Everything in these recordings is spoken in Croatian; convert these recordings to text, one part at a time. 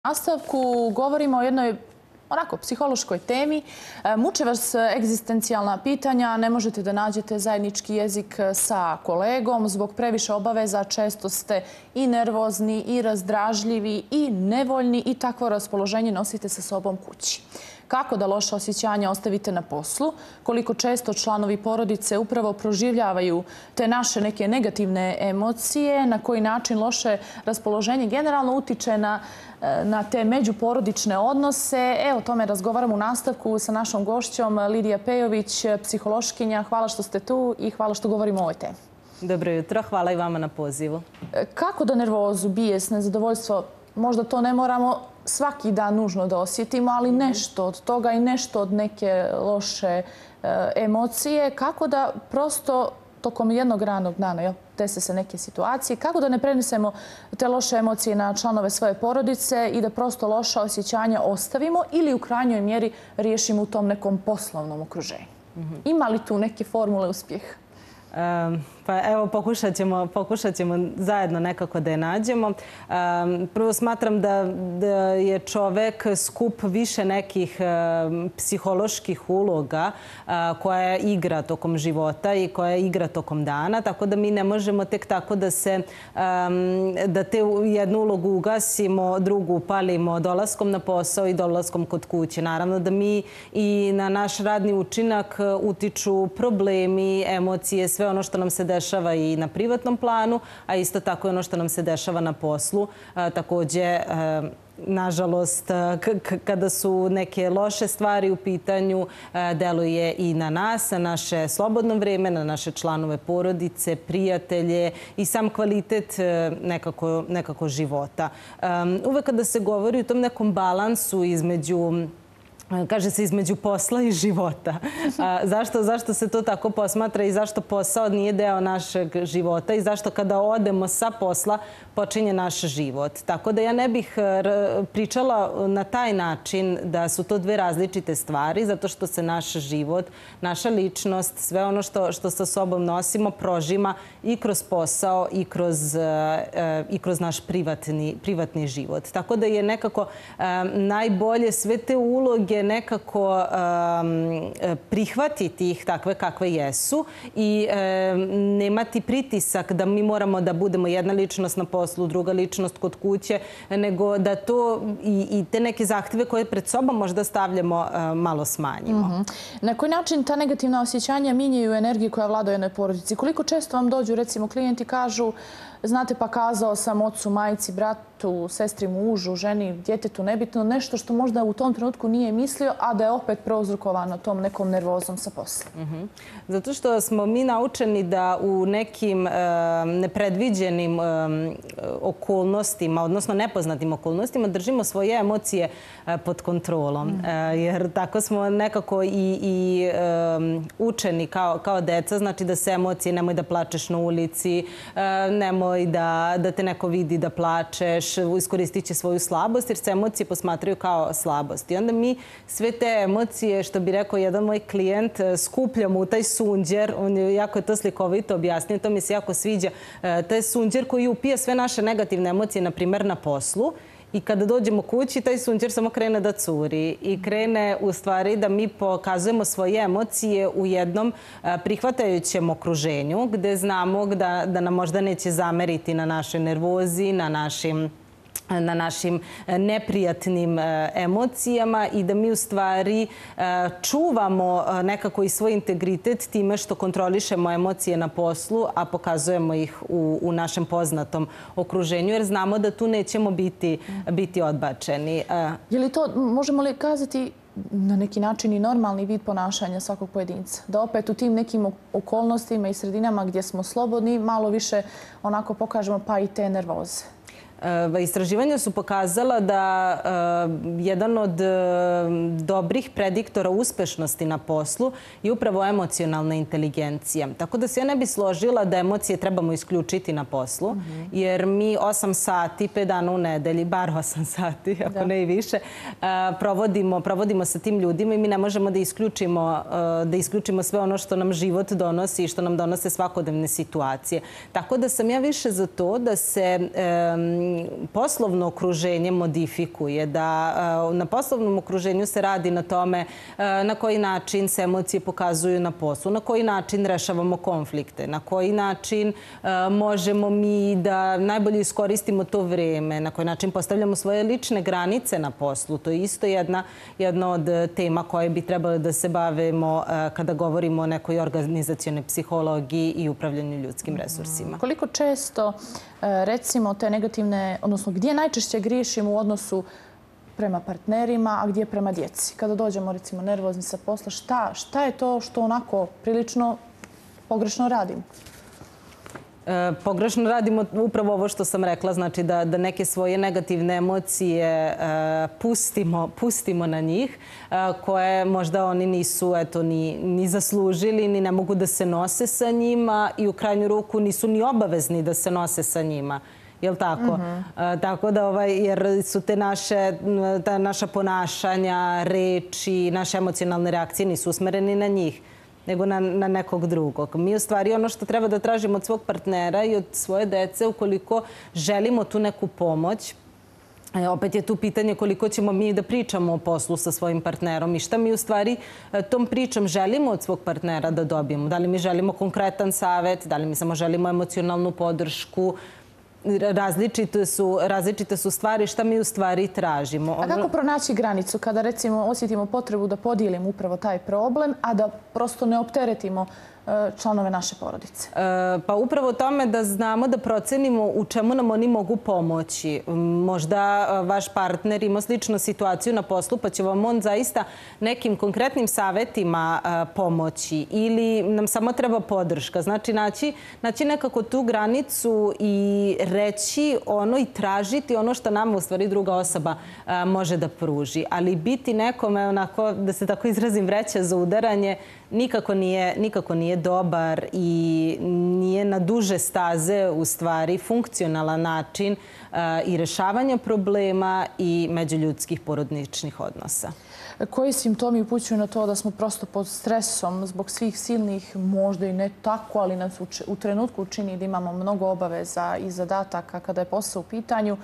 nastavku govorimo o jednoj onako psihološkoj temi. Muče vas egzistencijalna pitanja, ne možete da nađete zajednički jezik sa kolegom. Zbog previše obaveza često ste i nervozni, i razdražljivi, i nevoljni i takvo raspoloženje nosite sa sobom kući. Kako da loša osjećanja ostavite na poslu? Koliko često članovi porodice upravo proživljavaju te naše neke negativne emocije? Na koji način loše raspoloženje generalno utiče na te međuporodične odnose? Evo, o tome razgovaram u nastavku sa našom gošćom Lidija Pejović, psihološkinja. Hvala što ste tu i hvala što govorimo o ovoj temi. Dobro jutro, hvala i vama na pozivu. Kako da nervozu, bijes, nezadovoljstvo, možda to ne moramo svaki dan nužno da osjetimo, ali nešto od toga i nešto od neke loše emocije, kako da prosto tokom jednog radnog dana dese se neke situacije, kako da ne prenesemo te loše emocije na članove svoje porodice i da prosto loša osjećanja ostavimo ili u krajnjoj mjeri riješimo u tom nekom poslovnom okruženju. Ima li tu neke formule uspjeha? Pa evo, pokušat ćemo zajedno nekako da je nađemo. Prvo smatram da je čovek skup više nekih psiholoških uloga koja igra tokom života i koja igra tokom dana, tako da mi ne možemo tek tako da te jednu ulogu ugasimo, drugu upalimo dolaskom na posao i dolaskom kod kuće. Naravno da mi i na naš radni učinak utiču problemi, emocije, sve ono što nam se dešava i na privatnom planu, a isto tako i ono što nam se dešava na poslu. Također, nažalost, kada su neke loše stvari u pitanju, deluje i na nas, na naše slobodno vrijeme, na naše članove porodice, prijatelje i sam kvalitet nekako života. Uvek kada se govori o tom nekom balansu kaže se između posla i života. Zašto se to tako posmatra i zašto posao nije deo našeg života i zašto kada odemo sa posla počinje naš život. Tako da ja ne bih pričala na taj način da su to dve različite stvari, zato što se naš život, naša ličnost, sve ono što sa sobom nosimo prožima i kroz posao i kroz naš privatni život. Tako da je nekako najbolje sve te uloge nekako prihvatiti ih takve kakve jesu i nemati pritisak da mi moramo da budemo jedna ličnost na poslu, druga ličnost kod kuće, nego da to i te neke zahtjeve koje pred sobom možda stavljamo malo smanjimo. Na koji način ta negativna osjećanja minjaju energiju koja vlada u jednoj porodici? Koliko često vam dođu, recimo, klijenti kažu znate, pa kazao sam ocu, majci, bratu, sestri, mužu, ženi, djetetu, nebitno, nešto što možda u tom trenutku nije mislio, a da je opet prouzrokovano tom nekom nervozom sa posla. Zato što smo mi naučeni da u nekim nepredviđenim okolnostima, odnosno nepoznatim okolnostima, držimo svoje emocije pod kontrolom. Jer tako smo nekako i učeni kao deca, znači da se emocije, nemoj da plačeš na ulici, nemoj da te neko vidi da plačeš, iskoristit će svoju slabost, jer se emocije posmatraju kao slabost. I onda mi sve te emocije, što bi rekao jedan moj klijent, skupljamo u taj sunđer, on je jako to slikovito objasnio, to mi se jako sviđa, taj sunđer koji upija sve naše negativne emocije, na primjer na poslu, i kada dođemo kući, taj sunđer samo krene da curi i krene u stvari da mi pokazujemo svoje emocije u jednom prihvatajućem okruženju gdje znamo da nam možda neće zameriti na našoj nervozi, na našim neprijatnim emocijama i da mi u stvari čuvamo nekako i svoj integritet time što kontrolišemo emocije na poslu, a pokazujemo ih u našem poznatom okruženju, jer znamo da tu nećemo biti odbačeni. Je li to, možemo li kazati, na neki način i normalni vid ponašanja svakog pojedinca? Da opet u tim nekim okolnostima i sredinama gdje smo slobodni malo više onako pokažemo pa i te nervoze? Istraživanja su pokazala da jedan od dobrih prediktora uspešnosti na poslu je upravo emocionalna inteligencija. Tako da se ja ne bi složila da emocije trebamo isključiti na poslu, jer mi 8 sati, 5 dana u nedelji, bar 8 sati, ako ne i više, provodimo sa tim ljudima i mi ne možemo da isključimo sve ono što nam život donosi i što nam donose svakodnevne situacije. Tako da sam ja više za to da se poslovno okruženje modifikuje, da na poslovnom okruženju se radi na tome na koji način se emocije pokazuju na poslu, na koji način rešavamo konflikte, na koji način možemo mi da najbolje iskoristimo to vreme, na koji način postavljamo svoje lične granice na poslu. To je isto jedna od tema koje bi trebali da se bavimo kada govorimo o nekoj organizacionoj psihologiji i upravljanju ljudskim resursima. Koliko često, recimo, te negativne, odnosno gdje najčešće griješimo u odnosu prema partnerima, a gdje prema djeci? Kada dođemo, recimo, nervozni sa posla, šta je to što onako prilično pogrešno radimo? Pogrešno radimo upravo ovo što sam rekla, znači da neke svoje negativne emocije pustimo na njih, koje možda oni nisu ni zaslužili, ni ne mogu da se nose sa njima i u krajnju ruku nisu ni obavezni da se nose sa njima. Jel' tako? Tako da, jer su ta naša ponašanja, reči, naše emocionalne reakcije nisu usmereni na njih, nego na nekog drugog. Mi u stvari ono što treba da tražimo od svog partnera i od svoje dece, ukoliko želimo tu neku pomoć, opet je tu pitanje koliko ćemo mi da pričamo o poslu sa svojim partnerom i šta mi u stvari tom pričom želimo od svog partnera da dobijemo. Da li mi želimo konkretan savjet, da li mi samo želimo emocionalnu podršku. Različite su stvari šta mi u stvari tražimo. A kako pronaći granicu kada, recimo, osjetimo potrebu da podijelimo upravo taj problem, a da prosto ne opteretimo članove naše porodice? Pa upravo tome da znamo da procenimo u čemu nam oni mogu pomoći. Možda vaš partner ima sličnu situaciju na poslu, pa će vam on zaista nekim konkretnim savjetima pomoći ili nam samo treba podrška. Znači, naći nekako tu granicu i reći ono i tražiti ono što nama u stvari druga osoba može da pruži. Ali biti nekome, onako, da se tako izrazim, vreća za udaranje, nikako nije dobar i nije na duže staze u stvari funkcionalan način i rešavanja problema i međuljudskih porodičnih odnosa. Koji simptomi upućuju na to da smo prosto pod stresom zbog svih silnih, možda i ne tako, ali nas u trenutku učini da imamo mnogo obaveza i zadataka kada je posao u pitanju?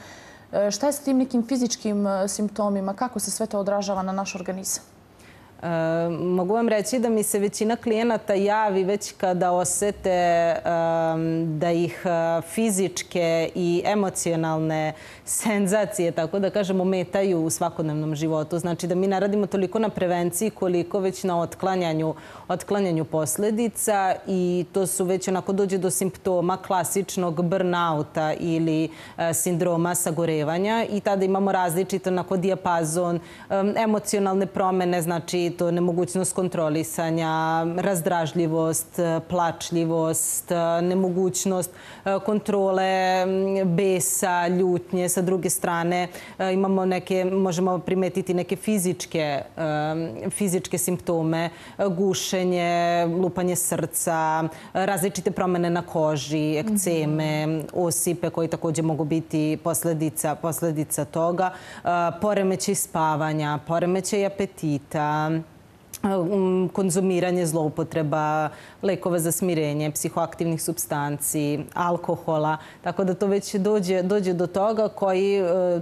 Šta je s tim nekim fizičkim simptomima? Kako se sve to odražava na naš organizam? Mogu vam reći da mi se većina klijenata javi već kada osete da ih fizičke i emocionalne senzacije, tako da kažemo, ometaju u svakodnevnom životu. Znači da mi ne radimo toliko na prevenciji koliko već na otklanjanju posljedica i to su već onako dođe do simptoma klasičnog burnouta ili sindroma sagorevanja i tada imamo različit onako dijapazon, emocionalne promjene, znači to nemogućnost kontrolisanja, razdražljivost, plačljivost, nemogućnost kontrole besa, ljutnje. Sa druge strane imamo možemo primetiti neke fizičke simptome, gušenje, lupanje srca, različite promjene na koži, ekceme, osipe koji također mogu biti posljedica toga, poremećaj spavanja, poremećaj apetita, konzumiranje, zloupotreba lekova za smirenje, psihoaktivnih supstanci, alkohola. Tako da to već dođe do toga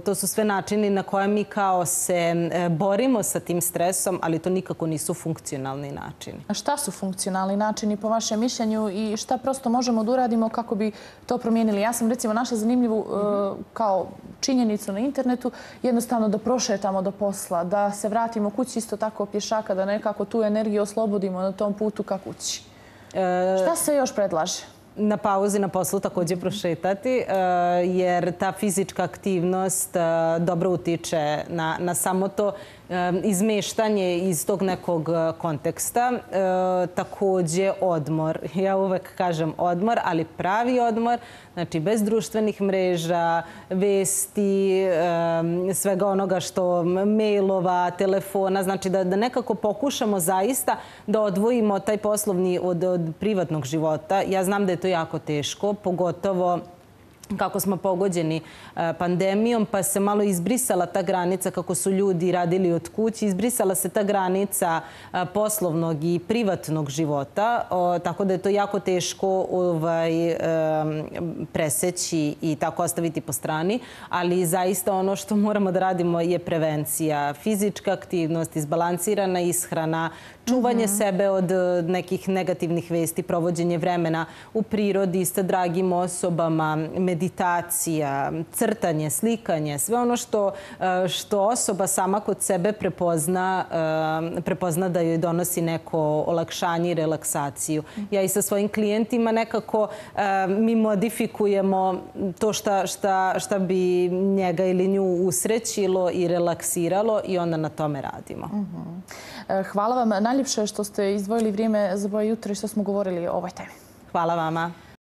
to su sve načini na koje mi kao se borimo sa tim stresom, ali to nikako nisu funkcionalni načini. A šta su funkcionalni načini po vašem mišljenju i šta prosto možemo da uradimo kako bi to promijenili? Ja sam recimo našla zanimljivu kao činjenicu na internetu, jednostavno da prošetamo do posla, da se vratimo kući isto tako pješaka, da nekako tu energiju oslobodimo na tom putu ka kući. Šta se još predlaže? Na pauzi na poslu također prošetati, jer ta fizička aktivnost dobro utiče na samo to izmeštanje iz tog nekog konteksta. Također odmor. Ja uvek kažem odmor, ali pravi odmor, znači bez društvenih mreža, vesti, svega onoga što mailova, telefona, znači da nekako pokušamo zaista da odvojimo taj poslovni od privatnog života. Ja znam da je to jako teško, pogotovo kako smo pogođeni pandemijom, pa se malo izbrisala ta granica kako su ljudi radili od kuće, izbrisala se ta granica poslovnog i privatnog života, tako da je to jako teško preseći i tako ostaviti po strani, ali zaista ono što moramo da radimo je prevencija, fizička aktivnost, izbalansirana ishrana, čuvanje sebe od nekih negativnih vesti, provođenje vremena u prirodi sa dragim osobama, meditacija, crtanje, slikanje, sve ono što osoba sama kod sebe prepozna da joj donosi neko olakšanje i relaksaciju. Ja i sa svojim klijentima nekako mi modifikujemo to šta bi njega ili nju usrećilo i relaksiralo i onda na tome radimo. Hvala vam najljepše što ste izdvojili vrijeme za Boje jutra i što smo govorili o ovoj temi. Hvala vama.